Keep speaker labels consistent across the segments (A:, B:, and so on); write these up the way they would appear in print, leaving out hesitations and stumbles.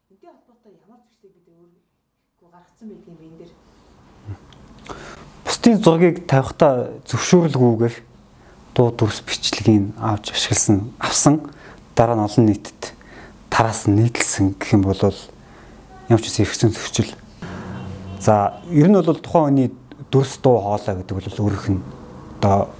A: Энтэй холбоотой ямар зуршлыг бид өөргөө гаргацсан байдаг юм бэ энэ дэр?
B: Бусдын зургийг тавихтаа зөвшөөрлгүйгээр дуу дүрс бичлэгийг авч авсан дараа нь олон нийтэд тараас нь нийтлсэн гэх юм бол ямар ч ихсэн зөрчил. За ер нь бол тухайн хүний дүрс дуу хоолой гэдэг бол өөрийнх нь одоо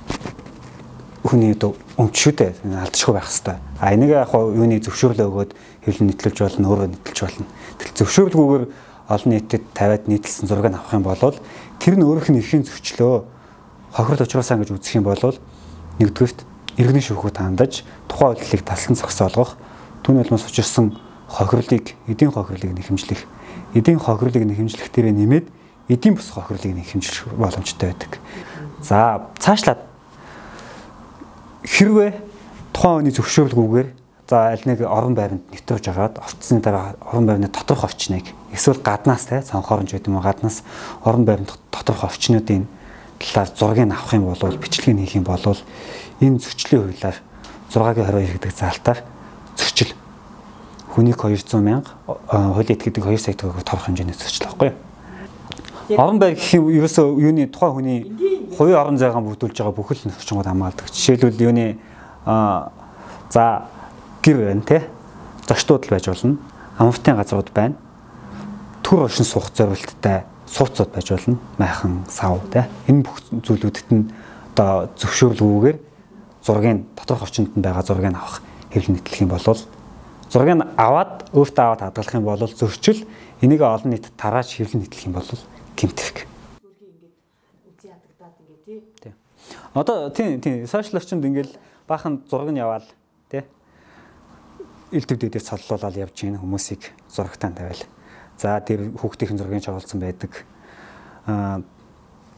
B: хүний өмч шүү дээ. Алдчихгүй байх хэвээр. А энийг яг юуны зөвшөөрлөө өгөөд хэвлэн нийтлүүлж болно, өөрөө нийтлж болно. Тэгэл зөвшөөрлгүйгээр олон нийтэд тавиад нийтлсэн зургийг авах юм бол тэр нь өөрийнх нь эрхийн зөрчлөө хохирол учруулсан гэж үзэх юм бол нэгдүгээрт иргэний шүүхөд хандаж тухайн үйлдэлийг таслан зогсоолгох, түүний улмаас учирсан хохирлыг, эдийн хохирлыг нэхэмжлэх, эдийн хохирлыг нэхэмжлэх дээрээ нэмээд эдийн бус хохирлыг нэхэмжлэх боломжтой байдаг. За цаашлаад хэрвээ тухайн хүний зөвшөөрлгүйгээр за аль нэг орон байранд нэвтрүүлж агаад орцсны дараа орон байрны доторх орчныг эсвэл гаднаас цонхоронж гэдэг юм гаднаас орон байрны доторх орчнуудын талаар зургийг авах юм бол бичлэгийг хийх юм бол энэ зөрчлийн хуулиар 6-22 гэдэг заалтаар зөрчил хүнийг 200,000 хуулийн эд гэдэг 2 сая төгрөг торох хэмжээний зөрчил байхгүй юу? Орон байр гэх юм ерөөсөө юуны тухайн хүний хувийн орон зайгаа бүрдүүлж байгаа бүхэл нөхцөлд хамгаалдаг. Жишээлбэл юуны за гэр байна те зочдууд л байж болно. Амралтын газрууд байна. Төр оршин суух зорилттой сууцуд байж болно. Майхан, сав те энэ бүх зүйлүүдэд нь одоо зөвшөөрлгүйгээр зургийг доторх орчинд нь байгаа зургийг авах хэвлэл нийтлэх юм бол зургийг аваад өөртөө аваад хадгалах юм бол зөрчил энийг олон нийтэд тарааж хэвлэл нийтлэх юм бол гэмтэх.
A: Үзий ядагдаад ингээ тий.
B: Одоо тийм сошиал орчинд ингээл баахан зураг нь яваал тий. Илтгэв дээр цоллуулаад явж гин хүмүүсийг зурагтаа тавиал. За тэр хүүхдийн зургийг чоолсон байдаг.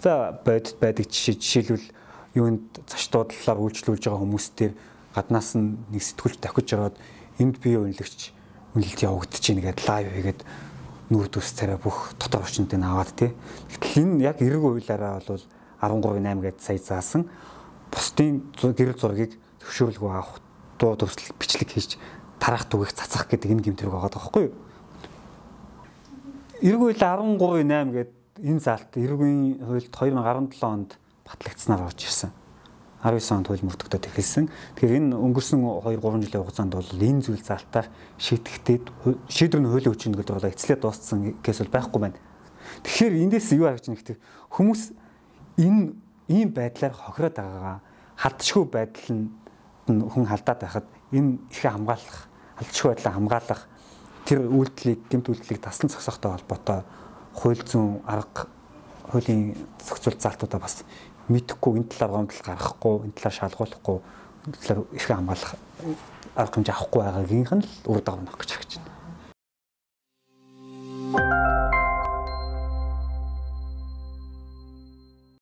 B: За бодит байдаг жишээлбэл юунд зочдуудлаар үйлчлүүлж байгаа хүмүүстээр гаднаас нь нэг сэтгүүлч давхиж ороод энд бие үнэлэгч үнэлэлт явагдаж гин гэдэг лайв хийгээд нүүр дүрс царай бүх дотор орчинд нь аваад тий. Гэтэл энэ яг эрэг хуулиараа бол 13.8 гэдээ сая заасан бусдын гэрэл зургийг зөвшөөрлгүй авах дуу дүрслэл бичлэг хийж тараах түгээх цацах гэдэг энэ гэмтрэг байгаа байхгүй юу? Эрэг хууль 13.8 гэдэг энэ заалт эргийн хуульд 2017 онд батлагдсанаар орж ирсэн. 19 онд хууль мөрдөгдөд эхэлсэн. Тэгэхээр энэ өнгөрсөн 2-3 жилийн хугацаанд бол энэ зүйл заалтаар шийтгэхдээ шийдвэр нь хуулийн хүчин гэдэг бол эцлээ дууссан кейс бол байхгүй байна. Тэгэхээр эндээс юу харагдж байна гэхээр хүмүүс энэ ийм байдлаар хохироод байгаагаа халтшгүй байдал нь хүн халдаад байхад энэ ихэ хамгаалах, халтшгүй байдлаа хамгаалах тэр үйлдэлийг, гэмт үйлдэлийг таслан зогсоохтой холбоотой хууль зүйн арга хуулийн зохицуулт заалтуудаа бас мэдэхгүй энэ талаар гомдол гаргахгүй, энэ талаар шалгуулахгүй, энэ талаар ихэ хамгаалах арга хэмжээ авахгүй байгаагийнх нь л үр дагавар нөх гэж харагдаж байна.